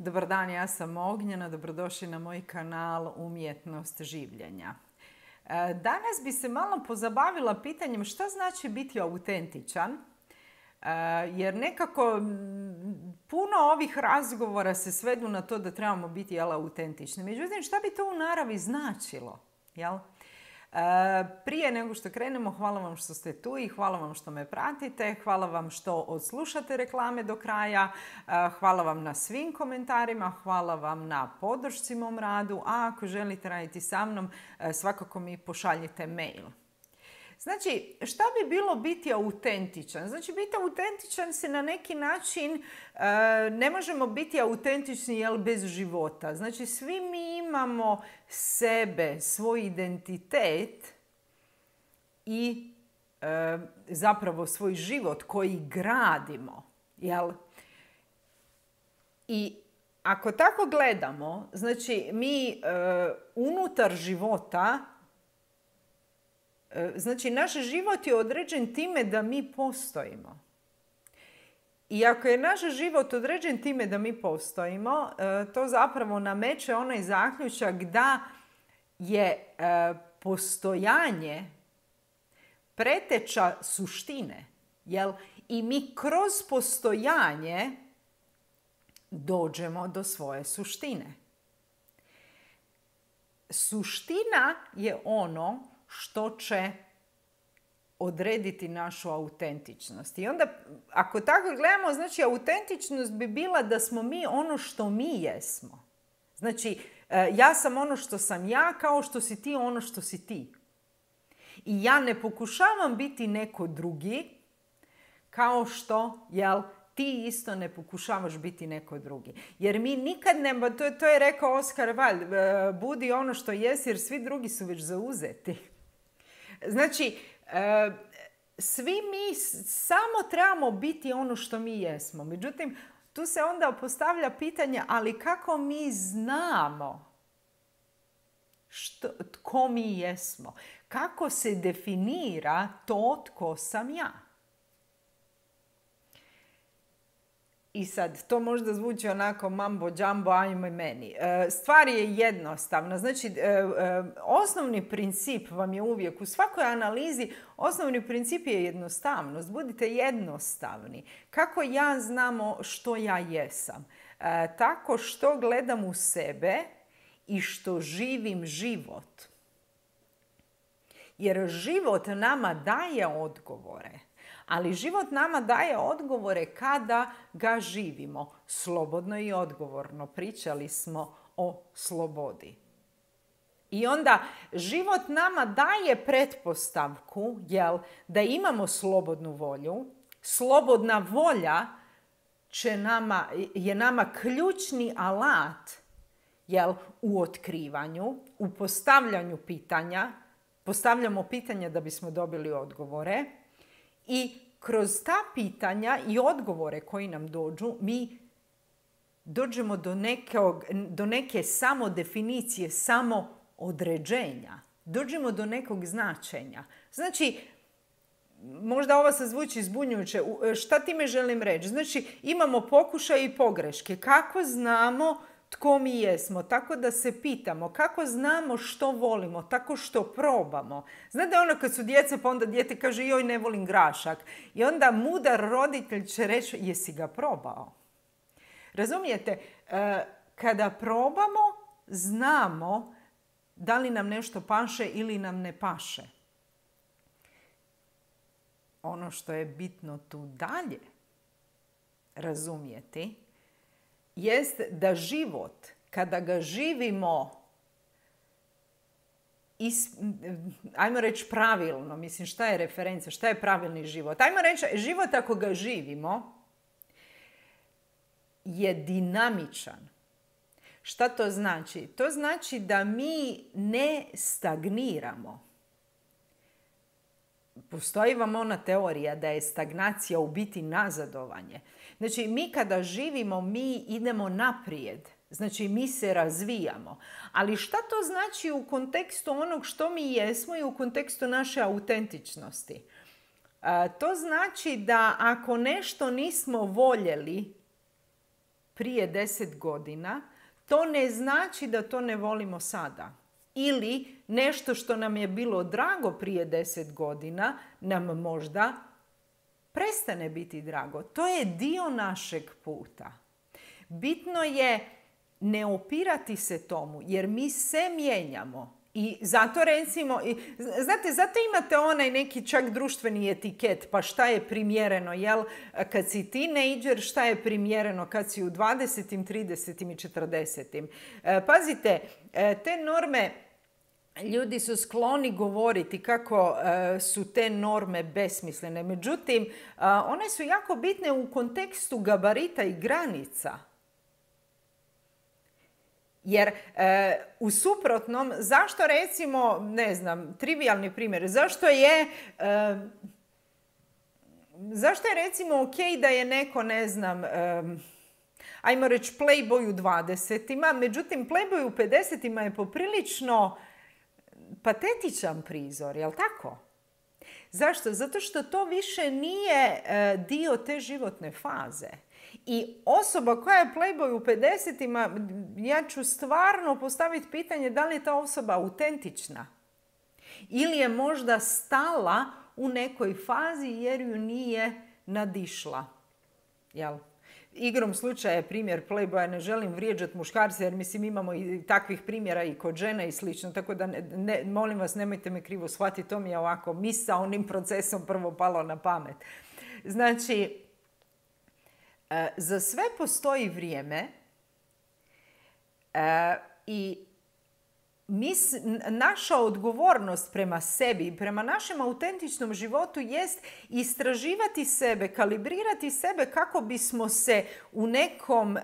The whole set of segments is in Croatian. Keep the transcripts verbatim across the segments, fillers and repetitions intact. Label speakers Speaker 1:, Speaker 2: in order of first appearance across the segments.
Speaker 1: Dobar dan, ja sam Ognjena, dobrodošli na moj kanal Umjetnost življenja. Danas bi se malo pozabavila pitanjem šta znači biti autentičan, jer nekako puno ovih razgovora se svedu na to da trebamo biti jel, autentični. Međutim, šta bi to u naravi značilo? Jel? Prije nego što krenemo, hvala vam što ste tu i hvala vam što me pratite, hvala vam što odslušate reklame do kraja, hvala vam na svim komentarima, hvala vam na podršci mom radu, a ako želite raditi sa mnom, svakako mi pošaljite mail. Znači, šta bi bilo biti autentičan? Znači, biti autentičan se na neki način, ne možemo biti autentični jel, bez života. Znači, svi mi imamo sebe, svoj identitet i e, zapravo svoj život koji gradimo. Jel? I ako tako gledamo, znači mi e, unutar života, znači, naš život je određen time da mi postojimo. I ako je naš život određen time da mi postojimo, to zapravo nameće onaj zaključak da je postojanje preteča suštine. Jel? I mi kroz postojanje dođemo do svoje suštine. Suština je ono što će odrediti našu autentičnost. I onda, ako tako gledamo, znači autentičnost bi bila da smo mi ono što mi jesmo. Znači, ja sam ono što sam ja, kao što si ti ono što si ti. I ja ne pokušavam biti neko drugi, kao što, jel, ti isto ne pokušavaš biti neko drugi. Jer mi nikad ne, to, to je rekao Oskar Wilde, budi ono što jesi jer svi drugi su već zauzeti. Znači, svi mi samo trebamo biti ono što mi jesmo. Međutim, tu se onda postavlja pitanje, ali kako mi znamo što, tko mi jesmo? Kako se definira to tko sam ja? I sad, to možda zvuči onako mambo, džambo, ajme meni. Stvar je jednostavna. Znači, osnovni princip vam je uvijek, u svakoj analizi, osnovni princip je jednostavnost. Budite jednostavni. Kako ja znamo što ja jesam? Tako što gledam u sebe i što živim život. Jer život nama daje odgovore. Ali život nama daje odgovore kada ga živimo. Slobodno i odgovorno. Pričali smo o slobodi. I onda život nama daje pretpostavku, jel, da imamo slobodnu volju. Slobodna volja će nama, je nama ključni alat, jel, u otkrivanju, u postavljanju pitanja. Postavljamo pitanja da bismo dobili odgovore. I kroz ta pitanja i odgovore koji nam dođu, mi dođemo do, nekog, do neke samodefinicije, samoodređenja. Dođemo do nekog značenja. Znači, možda ovo se zvuči zbunjujuće. Šta time želim reći? Znači, imamo pokušaje i pogreške. Kako znamo tko mi jesmo? Tako da se pitamo. Kako znamo što volimo? Tako što probamo. Znate ono kad su djeca, pa onda dijete kaže joj ne volim grašak. I onda mudar roditelj će reći jesi ga probao? Razumijete? Kada probamo, znamo da li nam nešto paše ili nam ne paše. Ono što je bitno tu dalje razumijeti jest da život, kada ga živimo, is, ajmo reći pravilno, mislim šta je referenca, šta je pravilni život? Ajmo reći, život ako ga živimo je dinamičan. Šta to znači? To znači da mi ne stagniramo. Postoji vam ona teorija da je stagnacija u biti nazadovanje. Znači, mi kada živimo, mi idemo naprijed. Znači, mi se razvijamo. Ali šta to znači u kontekstu onog što mi jesmo i u kontekstu naše autentičnosti? To znači da ako nešto nismo voljeli prije deset godina, to ne znači da to ne volimo sada. Ili nešto što nam je bilo drago prije deset godina nam možda prestane biti drago. To je dio našeg puta. Bitno je ne opirati se tomu, jer mi se mijenjamo. I zato recimo, znate, zato imate onaj neki čak društveni etiket, pa šta je primjereno, jel? Kad si tinejdžer, šta je primjereno kad si u dvadesetim, tridesetim i četrdesetim. Pazite, te norme, ljudi su skloni govoriti kako su te norme besmislene. Međutim, one su jako bitne u kontekstu gabarita i granica. Jer e, u suprotnom, zašto recimo, ne znam, trivijalni primjer, zašto je, e, zašto je recimo ok da je neko, ne znam, e, ajmo reći playboy u dvadesetima, međutim playboy u pedesetima je poprilično patetičan prizor, jel tako? Zašto? Zato što to više nije e, dio te životne faze. I osoba koja je playboy u pedesetima, ja ću stvarno postaviti pitanje da li je ta osoba autentična. Ili je možda stala u nekoj fazi jer ju nije nadišla. Jel? Igrom slučaja je primjer playboya, ne želim vrijeđati muškarce jer mislim imamo i takvih primjera i kod žena i slično. Tako da ne, ne, molim vas nemojte me krivo shvatiti, to mi je ovako misaonim procesom prvo palo na pamet. Znači, za sve postoji vrijeme e, i mis, naša odgovornost prema sebi i prema našem autentičnom životu jest istraživati sebe, kalibrirati sebe kako bismo se u nekom e,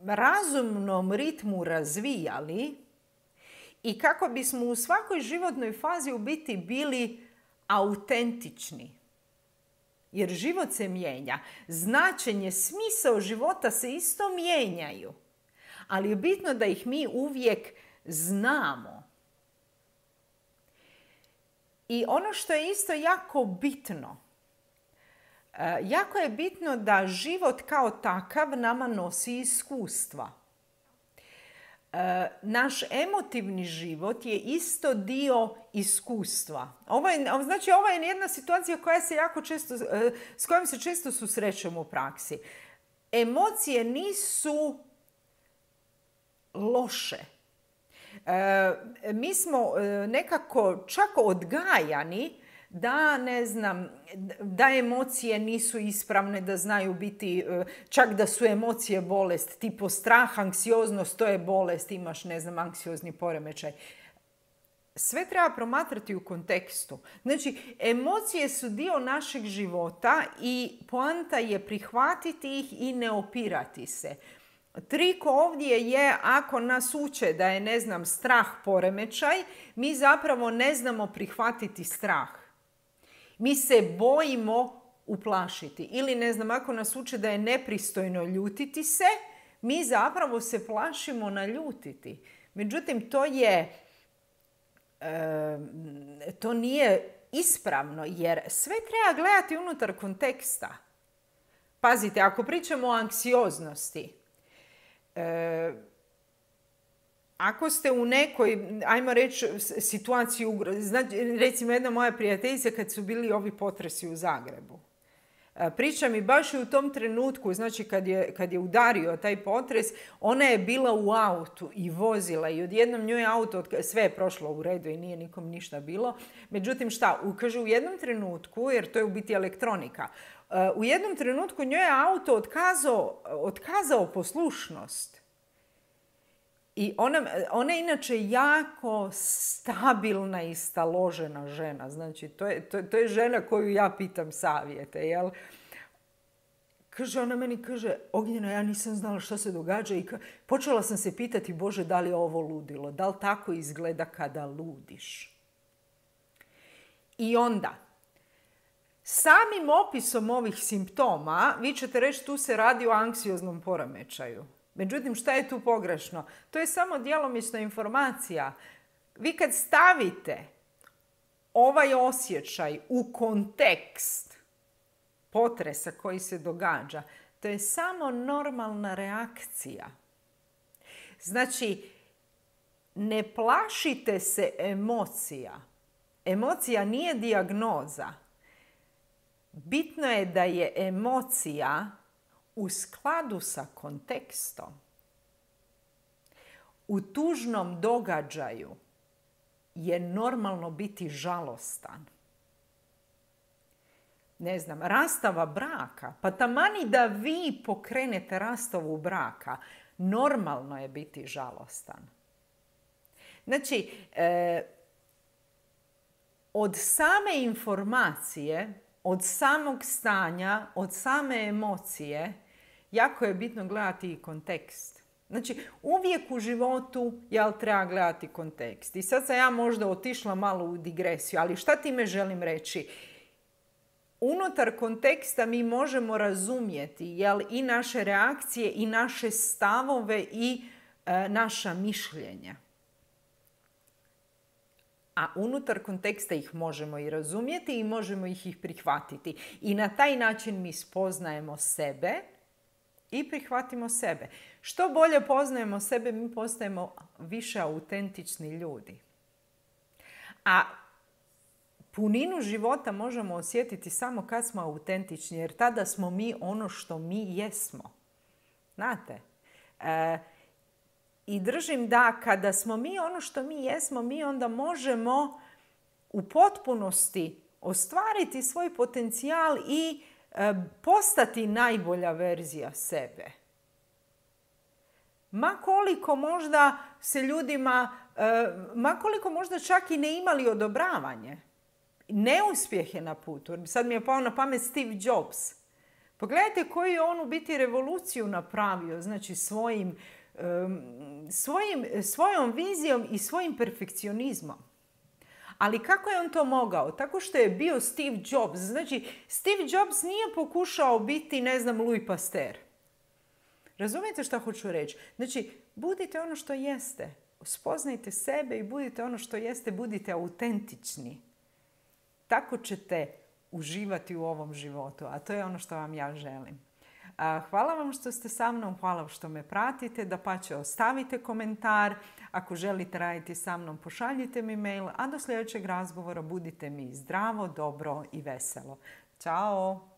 Speaker 1: razumnom ritmu razvijali i kako bismo u svakoj životnoj fazi u biti bili autentični. Jer život se mijenja. Značenje, smisao života se isto mijenjaju. Ali je bitno da ih mi uvijek znamo. I ono što je isto jako bitno, jako je bitno da život kao takav nama nosi iskustva. Naš emotivni život je isto dio iskustva. Ovo je, znači, ovo je jedna situacija koja se jako često, s kojom se često susrećemo u praksi. Emocije nisu loše. Mi smo nekako čak odgajani da, ne znam, da emocije nisu ispravne, da znaju biti, čak da su emocije bolest, tipo strah, anksioznost, to je bolest, imaš, ne znam, anksiozni poremećaj. Sve treba promatrati u kontekstu. Znači, emocije su dio našeg života i poanta je prihvatiti ih i ne opirati se. Trik ovdje je, ako nas uče da je, ne znam, strah poremećaj, mi zapravo ne znamo prihvatiti strah. Mi se bojimo uplašiti. Ili, ne znam, ako nas uče da je nepristojno ljutiti se, mi zapravo se plašimo naljutiti. Međutim, to je, e, to nije ispravno, jer sve treba gledati unutar konteksta. Pazite, ako pričamo o anksioznosti, e, ako ste u nekoj, ajmo reći, situaciji, znači, recimo jedna moja prijateljica kad su bili ovi potresi u Zagrebu. Priča mi baš i u tom trenutku, znači kad je, kad je udario taj potres, ona je bila u autu i vozila i odjednom njoj auto, sve je prošlo u redu i nije nikom ništa bilo. Međutim, šta? Kaže, u jednom trenutku, jer to je u biti elektronika, u jednom trenutku njoj je auto otkazao, otkazao poslušnost. I ona, ona je inače jako stabilna i staložena žena. Znači, to je, to, to je žena koju ja pitam savjete, jel? Kaže, ona meni kaže, Ognjena, ja nisam znala što se događa i ka... počela sam se pitati, Bože, da li je ovo ludilo? Da li tako izgleda kada ludiš? I onda, samim opisom ovih simptoma, vi ćete reći, tu se radi o anksioznom poremećaju. Međutim, šta je tu pogrešno? To je samo djelomična informacija. Vi kad stavite ovaj osjećaj u kontekst potresa koji se događa, To je samo normalna reakcija. Znači, ne plašite se emocija. Emocija nije dijagnoza. Bitno je da je emocija u skladu sa kontekstom. U tužnom događaju je normalno biti žalostan. Ne znam, rastava braka. Pa tamani da vi pokrenete rastavu braka, normalno je biti žalostan. Znači, e, od same informacije, od samog stanja, od same emocije, jako je bitno gledati i kontekst. Znači, uvijek u životu jel, treba gledati kontekst. I sad sam ja možda otišla malo u digresiju, ali šta time želim reći? Unutar konteksta mi možemo razumjeti jel, i naše reakcije, i naše stavove, i e, naša mišljenja. A unutar konteksta ih možemo i razumjeti i možemo ih i prihvatiti. I na taj način mi spoznajemo sebe i prihvatimo sebe. Što bolje poznajemo sebe, mi postajemo više autentični ljudi. A puninu života možemo osjetiti samo kad smo autentični, jer tada smo mi ono što mi jesmo. Znate? E, I držim da kada smo mi ono što mi jesmo, mi onda možemo u potpunosti ostvariti svoj potencijal i e, postati najbolja verzija sebe. Ma koliko možda se ljudima, e, ma koliko možda čak i ne imali odobravanje, neuspjehe na putu. Sad mi je pao na pamet Steve Jobs. Pogledajte koju je on u biti revoluciju napravio, znači svojim Svojim, svojom vizijom i svojim perfekcionizmom. Ali kako je on to mogao? Tako što je bio Steve Jobs. Znači, Steve Jobs nije pokušao biti, ne znam, Louis Pasteur. Razumijete što hoću reći? Znači, budite ono što jeste. Spoznajte sebe i budite ono što jeste. Budite autentični. Tako ćete uživati u ovom životu. A to je ono što vam ja želim. Hvala vam što ste sa mnom, hvala što me pratite, dapače ostavite komentar. Ako želite raditi sa mnom, pošaljite mi mail, a do sljedećeg razgovora budite mi zdravo, dobro i veselo. Ćao!